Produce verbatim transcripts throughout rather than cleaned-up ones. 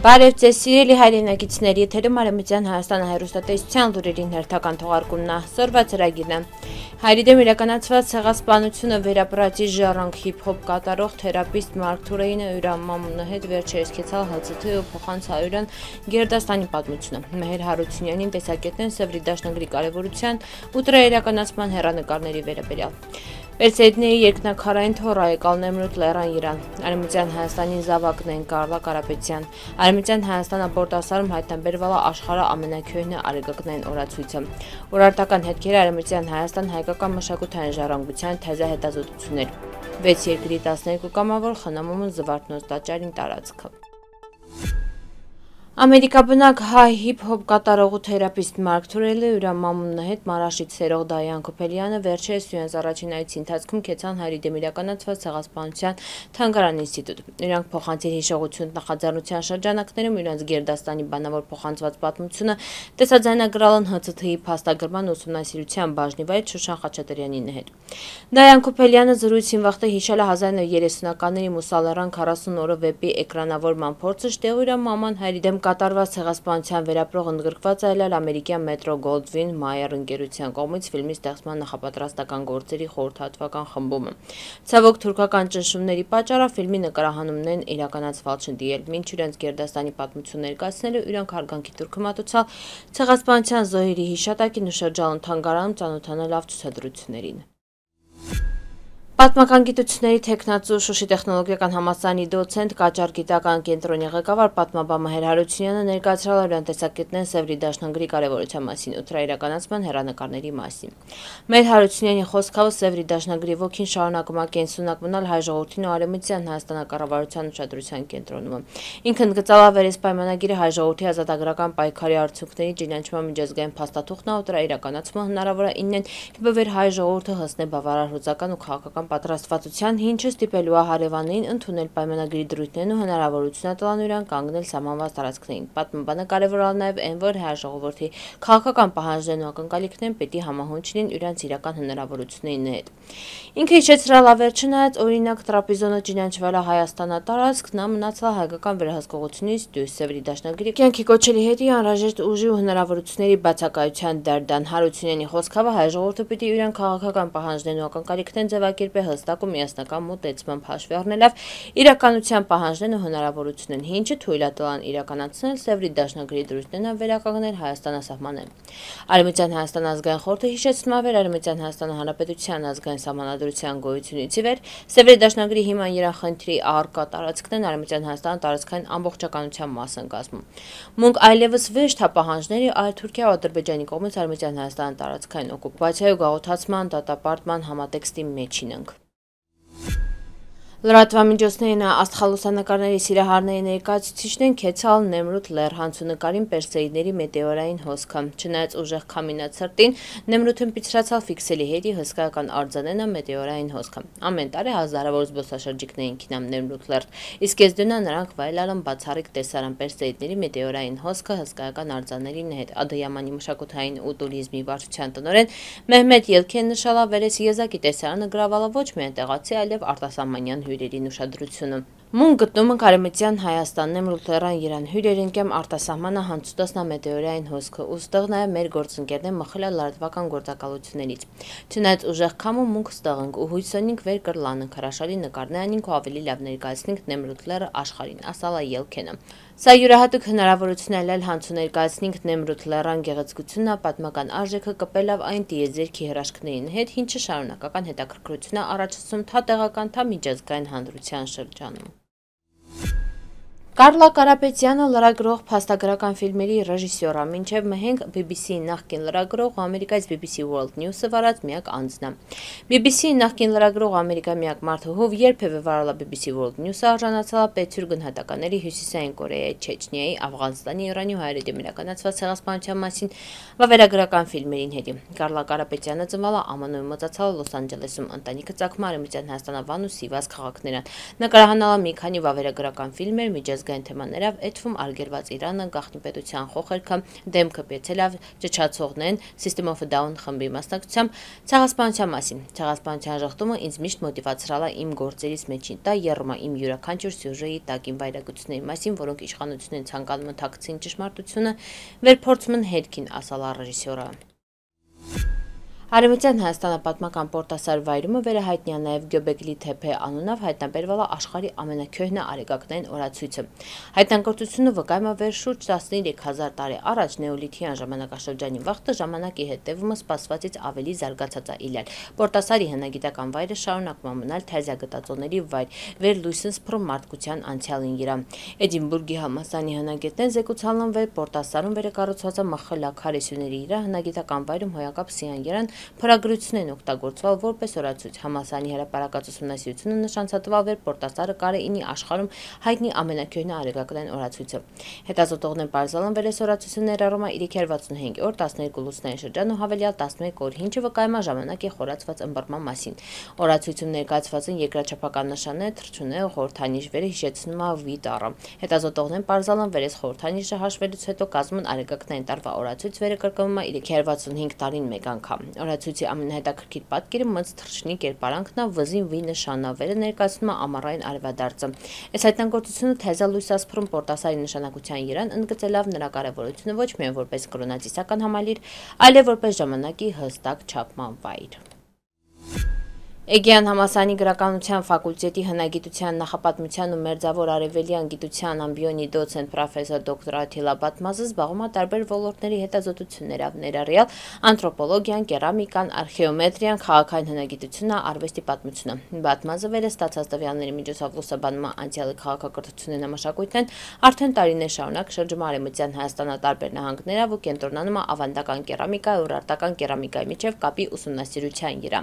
Բարև ձեզ սիրելի հայրենակիցների, եթերում Արևմտյան Հայաստանը հեռուստատեսության լուրերին հերթական թողարկումն է, սորվա ծրագիրն է։ Հայերի դեմ իրականացված ցեղասպանությունը վերապրածի ժառանգ հիփ-հոփ կատարող թերապիստ Մարկ Թուրեյինը իր մամունը հետ վերջերս կեցալ Հ Ց Թ ու փոխանց հայերեն Գերդաստանի պատմությունը։ Մեհեր Հարությունյանին տեսակետն Սևրի դաշնագրի կարևորության ու դրա իրականացման հեռանկարների վերաբերյալ։ Պերսեյդնեի երկնակարային թոռ Այկալ Նեմրութ Լեռան Իրան, Արևմտյան Հայաստանի զավակն են Կարլա Կարապետյան, Արևմտյան Հայաստան ապորտասարում հայտնաբերվել է աշխարհի ամենաքյոյնը արեգակնային օրացույցը։ Օրարտական հետքերը Արևմտյան Հայաստան հայկական մշակութային ժառանգության թեզա հետազոտություններ։ վեց երկրի տասներկու կամավոր խնամում ու զվարթնոց տաճարին տարածքը։ Ամերիկաբնակ հայ հիփ-հոփ կատարող ու թերապիստ Մարկ Թուրեյինը իր մամունը հետ Մարաշից սերող Դայան Քոփելյանը վերջերս իրենց առաջին այցի ընթացքում կեցան հայերի դեմ իրականացված ցեղասպանության թանգարան ինստիտուտ։ Նրանք փոխանցիր հիշողություն նախաձեռնության շրջանակներում իրենց Գերդաստանի բանավոր փոխանցված պատմությունը տեսաձայնագրալ են Հ Ց Թ-ի փաստագրման ուսումնասիրության բաժնի վայր Շուշան Խաչատրյանին հետ։ Դայան Քոփելյանը զրույցին վաղտե հիշել է հազար նույնսուն երեսունականների Մուսալարան քառասուն օրը վեպի էկրանավորման փորձը, շտեղ իր մաման հայերի դեմ կատարված ցեղասպանության վերապրող ընդգրկված է ել ամերիկյան Մետրո Գոլդվին Մայեր ընկերության կողմից ֆիլմի ստեղծման նախապատրաստական գործերի խորհրդատվական խմբումը։ Ցավոք թուրքական ճնշումների պատճառով ֆիլմի նկարահանումներն իրականացվել չդիել, մինչ իրենց Գերդաստանի պատմություն ներկայացնելու իրանք հարգանքի դուրքը մատուցալ ցեղասպանության զոհերի հիշատակին ու շրջանում թանգարանում ծանոթանալ լավ ցուցադրություններին։ Պատմական գիտությունների թեկնածու Շուշի տեխնոլոգիական համալսարանի դոցենտ Կաճար գիտական կենտրոնի ղեկավար պատմաբան Մեհեր Հարությունյանը ներկայացրել էր տեսակետներն Սևրի դաշնագրի կարևորության մասին ու դրա իրականացման հեռանկարների մասին։ Մեհեր Հարությունյանի խոսքով Սևրի դաշնագրի ոգին շարունակում է կենսունակ մնալ հայ ժողովրդին ու Արևմտյան Հայաստանակառավարության ուշադրության կենտրոնում։ Ինքն գծալավեր այս պայմանագիրը հայ ժողովրդի ազատագրական պայքարի արդյունքների ճանաչման միջազգային փաստաթուղթն ու դրա իրականացումը հնարավոր է իննեն կբվեր հայ ժողովուրդը հասնե բավարար հուզական ու քաղաքական պատրաստվածության հինչը ստիպելու է հարևաններին ընդունել պայմանագրի դրույթներն ու հնարավորությունը տալու իրան կանգնել սահմանված տարածքներին։ Պատմաբանը կարևորալ նաև այն, որ հայ ժողովրդի քաղաքական պահանջներն ու ակնկալիքներն պետք է համահունչ լինեն իրենց իրական հնարավորությունների հետ։ Ինքը հիշեցրել է վերջը նայած օրինակ տրապիզոնը ճանաչվել է Հայաստանատարածք, նա մնացել հայկական վերահսկողությունից դուրս Սևրի դաշնագրի կյանքի կոչելի հետի անհրաժեշտ ուժի ու հնարավորությունների բացակայության դարդան։ Հարությունյանի խոսքով հայ ժողովուրդը պիտի իրեն քաղաքական պահանջներն ու ակնկալիքներն ձևակերպի հստակ ու միասնական մոտեցմամբ հաշվի առնելով իրականության պահանջներն ու հնարավորություններն, ինչը թույլ է տալան իրականացնել Սևրի դաշնագրի դրույթներն վերականգնել Հայաստանասահմաններին։ Արևմտյան Հայաստան ազգային խորհուրդը հիշեցնում է, որ Արևմտյան Հայաստան Հանրապետության ազգային սահմանադրության գոյությունից ի վեր Սևրի դաշնագրի հիման երախնդրի առկա տարածքներն Արևմտյան Հայաստան տարածքային ամբողջականության մաս են կազմում։ Մունք այլևս ոչ թե պահանջների, այլ Թուրքիա ու Ադրբեջանի կողմից Արևմտյան Հայաստան տարածքային օկուպացիայի ու գաղութացման դատապարտման համատեքստի մեջին ենք։ Լրատվամիջոցներին աստղալուսանկարների սիրահարների ներկայացուցիչներն կեցալ Նեմրութ լեռ հանցունակարին Պերսեյդների մետեորային հոսքը։ Չնայած ուժեղ քամինացրտին, Նեմրութն պիցրացալ ֆիքսելի հետի հսկայական արձանենը մետեորային հոսքը։ Ամեն տարի հազարավոր զբոսաշրջիկներին քինամ Նեմրութ լեռ, իսկ եզդունա նրանք վայելալն բացառիկ տեսարան Պերսեյդների մետեորային հոսքը հսկայական արձաններին հետ։ Ադոյամանի մշակութային ու տուրիզմի վարչության տնօրեն Մեհմեդ Ելքեն նշել է վերես եզակի տեսարանը գրավալը ոչ միայն տեղացի, այլև արտասահմանյան հյուրերին ուշադրությունը։ Մուն գտնում ենք Արևմտյան Հայաստան Նեմրութ լեռան Իրան հյուրերին կեմ արտասահմանը հանցուտասնա մետեորային հոսքը ու ստեղ նաև մեր գործընկերներ մխել է լրատվական գործակալություններից։ Չնայած ուժեղ քամու մունք ստեղ ենք ու հույսոնինք վեր կրլանենք հրաշալի նկարներինք ու ավելի լավ ներկայացնենք Նեմրութ լեռը աշխարհին, ասալա Ելքենը։ Սա յուրահատուկ հնարավորություն է ել հանցու ներկայացնենք Նեմրութ լեռան գեղեցկությունը, պատմական արժեքը կպելով այն տիեզերքի հրաշքներին հետ, ինչը շարունակական հետաքրքրություն է առաջացնում թա տեղական, թա միջազգային հանրության շրջանում։ Կարլա Կարապետյանը լրագրող փաստագրական ֆիլմերի ռեժիսոր է, մինչև մհենք B B C-ի նախկին լրագրող ու Ամերիկայից B B C World News-ը վարած միակ անձն է։ B B C-ի նախկին լրագրող Ամերիկա միակ մարդը ով երբևէ վարել է B B C World News-ը արժանացել է պետ գնահատականների Հյուսիսային Կորեայի, Չեչնիայի, Աֆղանստանի, Իրանի ու հայերի դեմ իրականացված ցեղասպանության մասին վավերագրական ֆիլմերին հետի։ Կարլա Կարապետյանը ծնվել է Ամանուի մոծացել Լոս Անջելեսում, ընտանիքը ծագում Արևմտյան Հայաստանավան ու Սիվաս քաղաքներն։ Նկարահանալ է մի քանի վավերագրական ֆիլմեր, միջազգային միջազգային թեմաներով էթվում արգելված Իրանը, գաղտնի պետության խոխերքը, դեմքը պեցելով ճչացողներն System of a Down խմբի մասնակցությամբ ցեղասպանության մասին։ Ցեղասպանության ժխտումը ինձ միշտ մոտիվացրալ է իմ գործերից մեջին, դա եռում է իմ յուրաքանչյուր սյուժեի տակին վայրագությունների մասին, որոնք իշխանությունն են ցանկանում ընթակցին ճշմարտությունը, վերփորձում են հետքին, ասալ է ռեժիսորը։ Արևմտյան Հայաստանը պատմական պորտասար վայրումը վերահայտնի է նաև Գյոբեկլի թեփե անունով հայտնաբերվել է աշխարհի ամենաքյոհնա արեգակնային օրացույցը։ Հայտնագործությունը վկայում է վեր շուրջ տասնյոթ հազար տարի առաջ նեոլիթյան ժամանակաշրջանի վաղտը ժամանակի հետևումը սպասվածից ավելի զարգացած է իլել։ Պորտասարի հնագիտական վայրը շարունակում է մնալ թազյա գտածոների վայր, վեր լույսն սփռում մարդկության անցյալին իրա։ Էդինբուրգի համալսարանի հնագետներն զեկուցալն են վեր Պորտասարում վերակառուցված է մխլա քարեսյուների իրա հնագիտական վայրում հոյակապ Սիան երան փորագրությունն են օգտագործվել որպես օրացույց։ Համալսարանի հրապարակած ուսումնասիրությունը նշանցատվավ էր Պորտասարը կարե ինի աշխարհում հայտնի ամենակյոհնա արեգակնային օրացույցը։ Հետազոտողներն պարզել են վեր այս օրացույցը ներառում է իր հինգ վաթսունհինգ օր, տասներկու լուսնային շրջան ու հավելյալ տասնմեկ օր, ինչը վկայում է ժամանակի խորացված ըմբռնման մասին։ Օրացույցում ներկայացված են երկրաչափական նշաններ, թռչունները, խորհրդանիշ վերը հիշեցնում է վիտառը։ Հետազոտողներն պարզել են վեր այս խորհրդանիշը հաշվելուց հետո կազմում արեգակնային տարվա օրացույց վերը կրկնվում է իր հինգ վաթսունհինգ տարին մեկ անգամ։ Օրացույցի ամենահետաքրքիր պատկերը մց թռչնի կերպարանքն է, վզին վի նշանավերը ներկայացնում է ամառային արևադարձը։ Այս հայտնագործությունը թեզա լույս է սփռում Պորտասարի նշանակության երան, ընդգծելով նրա կարևորությունը ոչ միայն որպես կրոնածիսական համալիր, այլև որպես ժամանակի հստակ չափման վայր։ Էգեան համալսարանի գրականության ֆակուլտետի հնագիտության նախապատմության ու մերձավոր արևելյան գիտության ամբիոնի դոցենտ պրոֆեսոր դոկտոր Աթիլա Բատմազը զբաղվում է տարբեր ոլորտների հետազոտություններով, ներառյալ անթրոպոլոգիան, կերամիկան, արխեոմետրիան, քաղաքային հնագիտությունը, արվեստի պատմությունը։ Բատմազը վերը ստացած տվյալների միջոցով լուսաբանում է անցյալի քաղաքակրթությունն ու մշակույթն, արդեն տարիներ շարունակ շրջում է արևմտյան Հայաստանը տարբեր նահանգներով ու կենտրոնանում է ավանդական կերամիկայի ու ուրարտական կերամիկայի միջև կապի ուսումնասիրության վրա։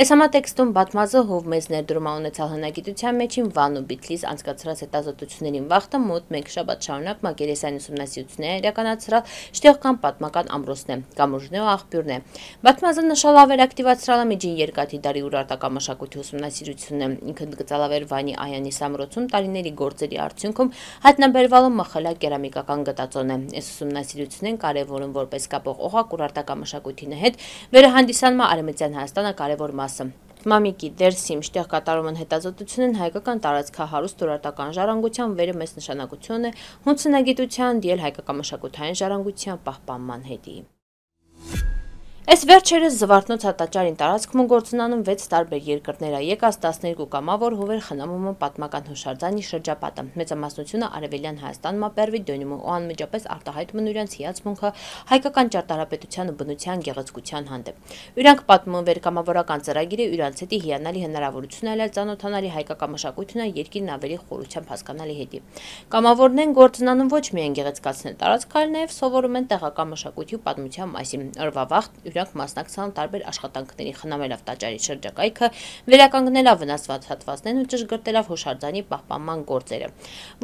Այս համատեքստում Բատմազը հով մեծ ներդրում է ունեցել հնագիտության մեջին Վան ու Բիթլիս անցկացրած հետազոտություններին վաղտը մոտ մեկ շաբաթ շարունակ մակերեսային ուսումնասիրություններ իրականացրել շտեղական պատմական ամրոցն է, կամուրջն ու աղբյուրն է։ Բատմազը նշալավեր ակտիվացրել է միջին երկաթի դարի ուրարտական մշակույթի ուսումնասիրությունը, ինքը ընդգծալավեր Վանի Այանի սամրոցում տարիների գործերի արդյունքում հայտնաբերվալ մխլա կերամիկական գտածոն է։ Այս ուսումնասիրությունն կարևորում որպես կապող օղակ ուրարտական մշակույթի հետ վերահանդիսանում է արևմտյան Հայաստանը կարևոր մասը։ Մամիկի դերսիմ շտեղ կատարում են հետազոտությունն հայկական տարածքահարուստ ուրարտական ժառանգության վերը մեծ նշանակություն է հունցնագիտության դիել հայկական մշակութային ժառանգության պահպանման հետի։ Այս վերջերս Զվարթնոց հատաճարին տարածքում գործունանում վեց տարբեր երկրներ, եկած տասներկու կամավոր հովեր խնամում են պատմական հուշարձանի շրջապատը։ Մեծամասնությունը արևելյան Հայաստանում ապերվի դոնում ու անմիջապես արտահայտում իրենց հիացմունքը հայկական ճարտարապետության ու բնության գեղեցկության հանդեպ։ Իրանք պատմում են վեր կամավորական ծրագիրը իրանց հետի հիանալի հնարավորություն այլել ծանոթանալի հայկական մշակույթն երկիրն ավելի խորությամբ հասկանալի հետի։ Կամավորներն գործունանում ոչ միայն գեղեցկացնել տարածքը, այլ նաև սովորում են տեղական մշակույթի ու պատմության մասին։ Օրվա վաղ իրանք մասնակցան տարբեր աշխատանքների խնամելով տաճարի շրջակայքը, վերականգնելով վնասված հատվածներն ու ճշգրտելով հուշարձանի պահպանման գործերը։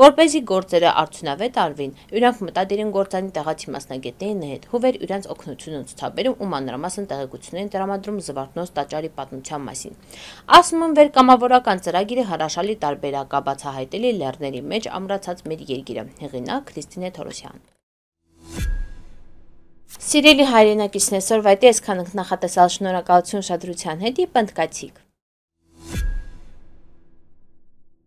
Որպեսզի գործերը արդյունավետ արվին, իրանք մտադիր են գործանի տեղացի մասնագետների հետ, հովեր իրանց օգնությունը ցուցաբերում ու մանրամասն տեղեկություններ տրամադրում Զվարթնոց տաճարի պատմության մասին։ Ասում են վեր կամավորական ծրագիրը հրաշալի տարբերակ է բացահայտելի լեռների մեջ ամրացած մեր երկիրը։ Հեղինակ Քրիստինե Թորոսյան։ Սիրելի հայրենակիցներ, այսօրվա այսքան ենք նախատեսալ, շնորհակալություն ուշադրության հետ, պնդկացիք։